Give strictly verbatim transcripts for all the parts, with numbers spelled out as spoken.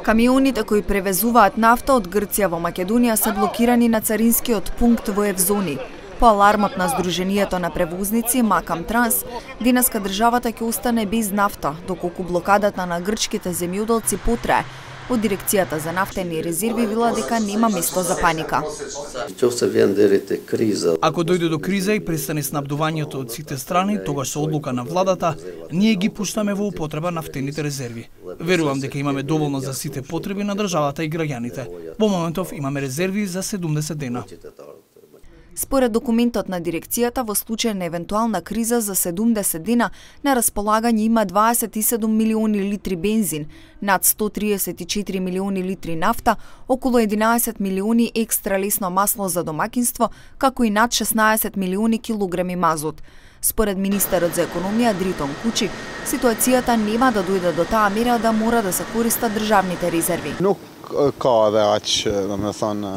Камионите кои превезуваат нафта од Грција во Македонија се блокирани на царинскиот пункт во Евзони. По алармот на Сдруженијето на превозници Макам Транс, денеска државата ќе остане без нафта, доколку блокадата на грчките земјоделци потрае. Од дирекцијата за нафтени резерви вела дека нема место за паника. Ако дојде до криза и престане снабдувањето од сите страни, тогаш со одлука на владата, ние ги пуштаме во употреба нафтените резерви. Верувам дека имаме доволно за сите потреби на државата и граѓаните. Во моментов имаме резерви за седумдесет дена. Според документот на дирекцијата, во случај на евентуална криза за седумдесет дена, на располагање има дваесет и седум милиони литри бензин, над сто триесет и четири милиони литри нафта, околу единаесет милиони екстра лесно масло за домакинство, како и над шеснаесет милиони килограми мазот. Според министерот за економија Дритон Кучи, ситуацијата нема да дојде до таа мера да мора да се користат државните резерви.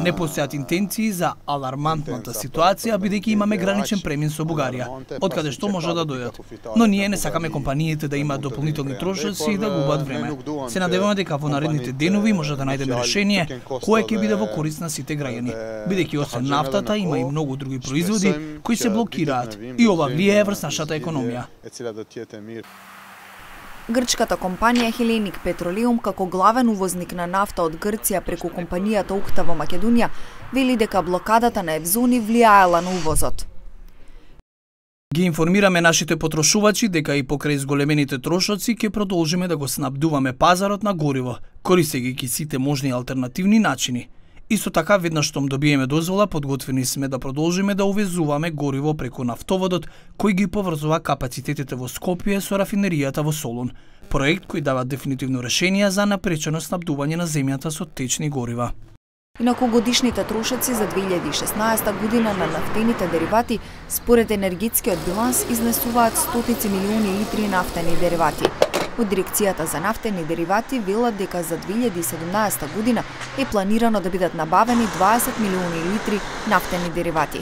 Не постојат интенции за алармантната ситуација, бидејќи имаме граничен премин со Бугарија, од каде што може да дојдат. Но ние не сакаме компаниите да имаат дополнителни трошоци и да губат време. Се надеваме дека во наредните денови може да најдеме решение кое ќе биде во корист на сите граѓани, бидејќи освен нафтата има и многу други производи кои се блокираат и ова влијае врз нашата економија. Грчката компанија Hellenic Petroleum, како главен увозник на нафта од Грција преку компанијата Окта во Македонија, вели дека блокадата на Евзони влијаела на увозот. Ги информираме нашите потрошувачи дека и покрај зголемените трошоци ќе продолжиме да го снабдуваме пазарот на гориво, користејќи ги сите можни алтернативни начини. Исто така, веднаш штом добиеме дозвола, подготвени сме да продолжиме да увезуваме гориво преку нафтоводот, кој ги поврзува капацитетите во Скопје со рафинеријата во Солун. Проект кој дава дефинитивно решение за напречено снабдување на земјата со течни горива. Инаку годишните трошоци за две илјади и шеснаесета година на нафтените деривати, според енергетскиот биланс, изнесуваат стотици милиони литри нафтени деривати. Од дирекцијата за нафтени деривати велат дека за две илјади и седумнаесета година е планирано да бидат набавени дваесет милиони литри нафтени деривати.